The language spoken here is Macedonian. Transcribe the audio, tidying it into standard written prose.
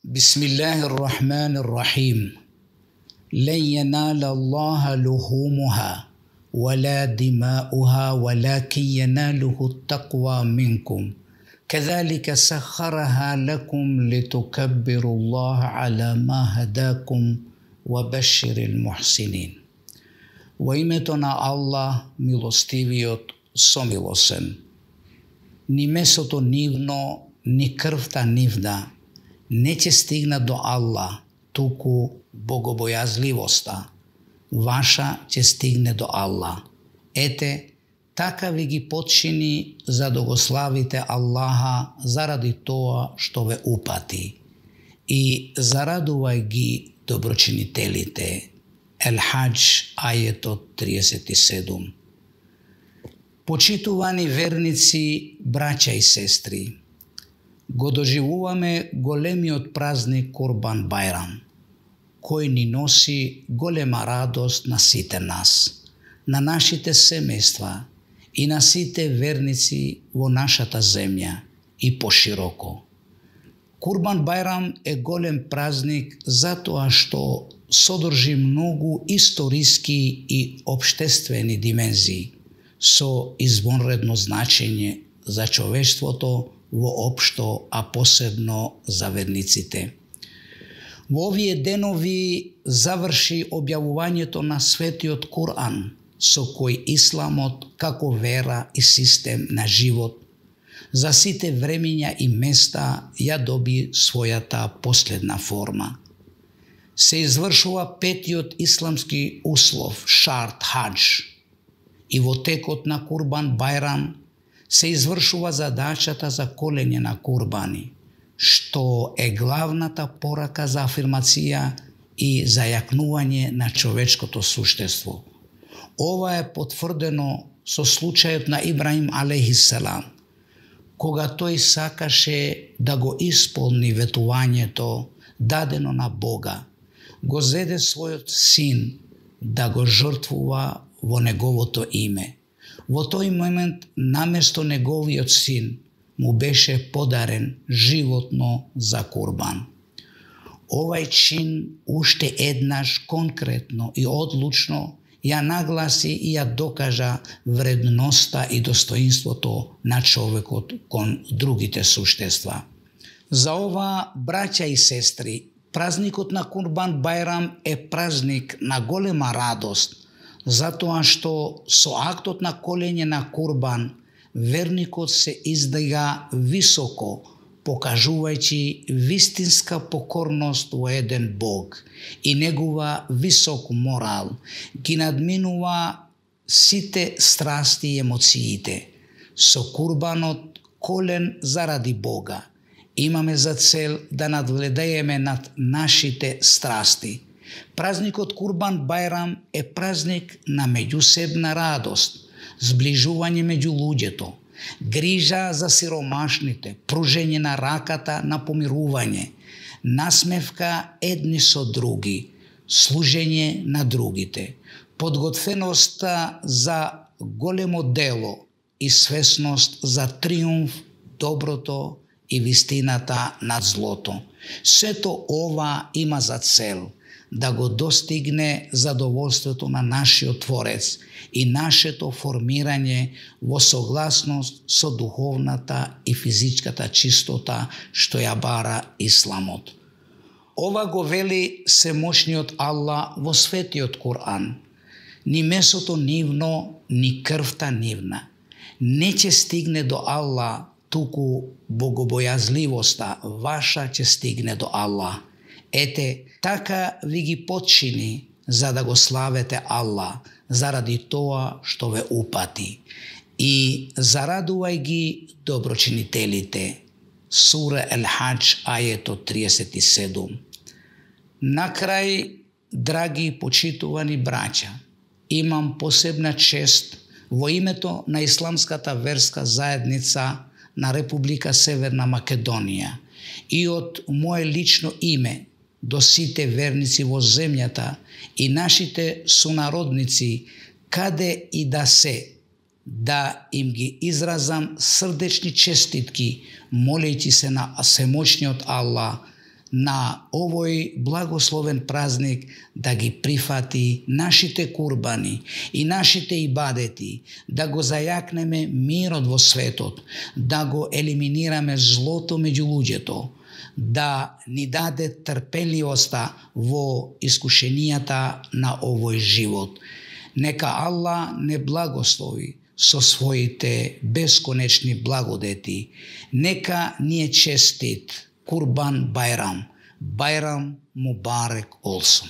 بسم الله الرحمن الرحيم لن ينال الله لحومها ولا دماؤها ولكن يناله التقوى منكم كذلك سخرها لكم لتكبروا الله على ما هداكم وبشر المحسنين. Во името на Аллах, милостивиот, somilosен. Ни месото нивно, ни крвта нивна не ќе стигна до Аллах, туку богобојазливоста ваша ќе стигне до Аллах. Ете, така ви ги почини за да го славите Аллаха заради тоа што ве упати. И зарадувај ги доброчинителите. Елхадж, ајетот 37. Почитувани верници, браќа и сестри, го доживуваме големиот празник Курбан Бајрам, кој ни носи голема радост на сите нас, на нашите семејства и на сите верници во нашата земја и пошироко. Курбан Бајрам е голем празник затоа што содржи многу историски и општествени димензии со извонредно значење за човештвото воопшто, а посебно за верниците. Во овие денови заврши објавувањето на светиот Куран, со кој исламот како вера и систем на живот за сите времиња и места ја доби својата последна форма. Се извршува петиот исламски услов, шарт хадж, и во текот на Курбан Бајрам се извршува задачата за колење на курбани, што е главната порака за афирмација и зајакнување на човечкото суштество. Ова е потврдено со случајот на Ибраим алейхиселам, кога тој сакаше да го исполни ветувањето дадено на Бога, го зеде својот син да го жртвува во неговото име. Во тој момент, наместо неговиот син, му беше подарен животно за курбан. Овај чин уште еднаш конкретно и одлучно ја нагласи и ја докажа вредноста и достоинството на човекот кон другите суштества. За ова, браќа и сестри, празникот на Курбан Бајрам е празник на голема радост, затоа што со актот на колење на курбан, верникот се издига високо, покажувајќи вистинска покорност во еден Бог и негова висок морал, ги надминува сите страсти и емоциите. Со курбанот колен заради Бога имаме за цел да надвладееме над нашите страсти. Празникот Курбан Бајрам е празник на меѓусебна радост, зближување меѓу луѓето, грижа за сиромашните, пружење на раката на помирување, насмевка едни со други, служење на другите, подготвеноста за големо дело и свесност за триумф, доброто и вистината над злото. Сето ова има за цел да го достигне задоволството на нашиот Творец и нашето формирање во согласност со духовната и физичката чистота што ја бара исламот. Ова го вели семошниот Аллах во светиот Куран. Ни месото нивно, ни крвта нивна не ќе стигне до Аллах, туку богобојазливоста ваша ќе стигне до Аллах. Ете, така ви ги почини за да го славете Аллах заради тоа што ве упати. И зарадувај ги доброчинителите. Сура Елхадж, ајетот 37. Накрај, драги и почитувани браќа, имам посебна чест во името на Исламската верска заедница на Република Северна Македонија и од мое лично име до сите верници во земјата и нашите сонародници, каде и да се, да им ги изразам срдечни честитки, молејќи се на всемочниот Аллах на овој благословен празник да ги прифати нашите курбани и нашите ибадети, да го зајакнеме мирот во светот, да го елиминираме злото меѓу луѓето, да ни даде трпеливоста во искушенијата на овој живот. Нека Аллах не благослови со своите бесконечни благодети. Нека ни е честит Курбан Байрам. Байрам Мубарек олсун.